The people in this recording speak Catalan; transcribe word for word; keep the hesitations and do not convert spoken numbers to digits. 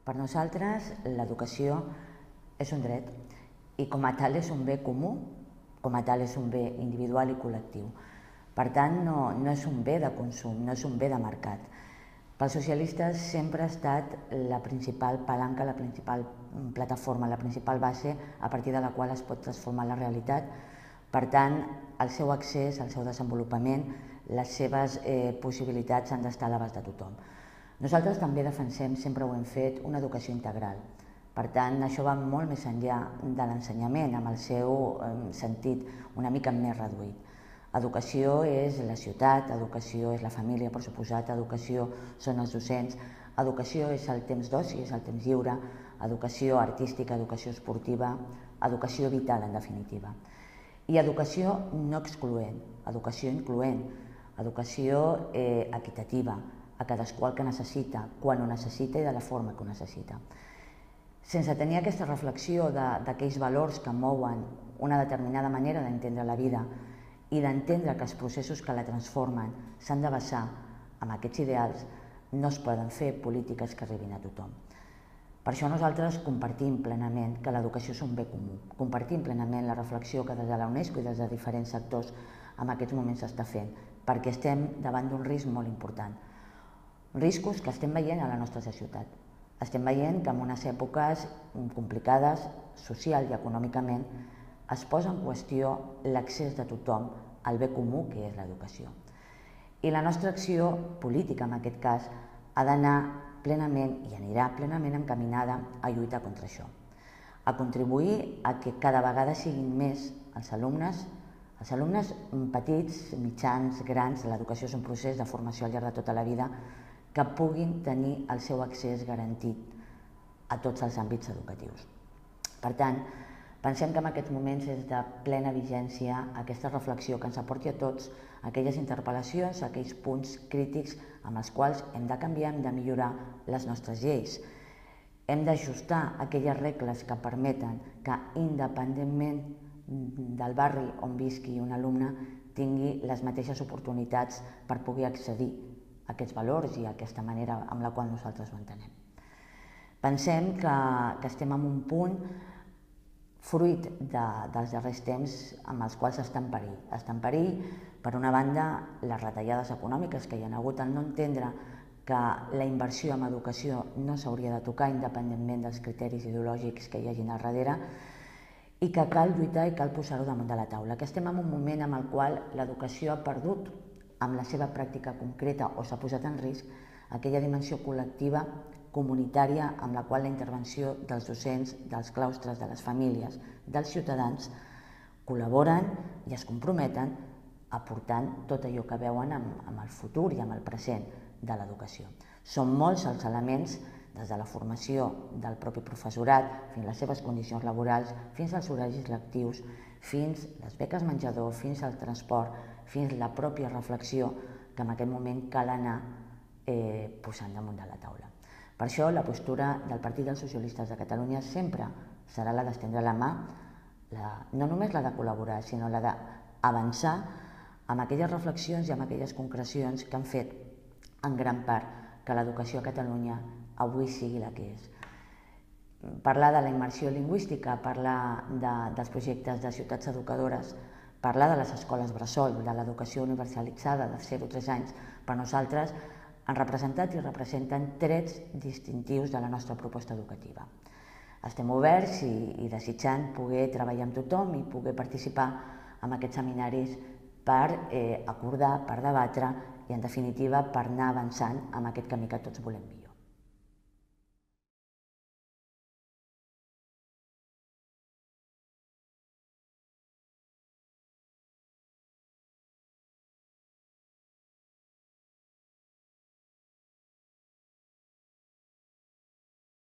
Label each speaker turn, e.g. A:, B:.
A: Per nosaltres, l'educació és un dret i com a tal és un bé comú, com a tal és un bé individual i col·lectiu. Per tant, no, no és un bé de consum, no és un bé de mercat. Pels socialistes sempre ha estat la principal palanca, la principal plataforma, la principal base a partir de la qual es pot transformar la realitat. Per tant, el seu accés, el seu desenvolupament, les seves eh, possibilitats han d'estar a l'abast de tothom. Nosaltres també defensem, sempre ho hem fet, una educació integral. Per tant, això va molt més enllà de l'ensenyament, amb el seu eh, sentit una mica més reduït. Educació és la ciutat, educació és la família, per suposat, educació són els docents, educació és el temps d'oci, és el temps lliure, educació artística, educació esportiva, educació vital, en definitiva. I educació no excloent, educació incloent, educació eh, equitativa, a cadascú el que necessita, quan ho necessita i de la forma que ho necessita. Sense tenir aquesta reflexió d'aquells valors que mouen una determinada manera d'entendre la vida i d'entendre que els processos que la transformen s'han de basar en aquests ideals, no es poden fer polítiques que arribin a tothom. Per això nosaltres compartim plenament que l'educació és un bé comú, compartim plenament la reflexió que des de la UNESCO i des de diferents sectors en aquests moments s'està fent, perquè estem davant d'un risc molt important. Riscos que estem veient a la nostra societat. Estem veient que en unes èpoques complicades, social i econòmicament, es posa en qüestió l'accés de tothom al bé comú que és l'educació. I la nostra acció política, en aquest cas, ha d'anar plenament i anirà plenament encaminada a lluitar contra això, a contribuir a que cada vegada siguin més els alumnes, els alumnes petits, mitjans, grans, l'educació és un procés de formació al llarg de tota la vida, que puguin tenir el seu accés garantit a tots els àmbits educatius. Per tant, pensem que en aquests moments és de plena vigència aquesta reflexió que ens aporti a tots aquelles interpel·lacions, aquells punts crítics amb els quals hem de canviar, hem de millorar les nostres lleis. Hem d'ajustar aquelles regles que permeten que, independentment del barri on visqui un alumne, tingui les mateixes oportunitats per poder accedir a aquests valors i a aquesta manera amb la qual nosaltres ho entenem. Pensem que, que estem en un punt fruit de, dels darrers temps amb els quals està en perill. Està en perill, per una banda, les retallades econòmiques que hi ha hagut al no entendre que la inversió en educació no s'hauria de tocar independentment dels criteris ideològics que hi hagin al darrere i que cal lluitar i cal posar-ho damunt de la taula. Que estem en un moment en el qual l'educació ha perdut amb la seva pràctica concreta o s'ha posat en risc aquella dimensió col·lectiva, comunitària, amb la qual la intervenció dels docents, dels claustres, de les famílies, dels ciutadans, col·laboren i es comprometen aportant tot allò que veuen amb el futur i amb el present de l'educació. Són molts els elements, des de la formació del propi professorat, fins a les seves condicions laborals, fins als horaris lectius, fins a les beques menjador, fins al transport, fins a la pròpia reflexió que en aquest moment cal anar eh, posant damunt de la taula. Per això la postura del Partit dels Socialistes de Catalunya sempre serà la d'estendre la mà, la, no només la de col·laborar, sinó la d'avançar amb aquelles reflexions i amb aquelles concrecions que han fet en gran part que l'educació a Catalunya avui sigui la que és. Parlar de la immersió lingüística, parlar de, dels projectes de ciutats educadores, parlar de les escoles bressol, de l'educació universalitzada de zero a tres anys, per nosaltres han representat i representen trets distintius de la nostra proposta educativa. Estem oberts i, i desitjant poder treballar amb tothom i poder participar en aquests seminaris per eh, acordar, per debatre i, en definitiva, per anar avançant en aquest camí que tots volem millorar.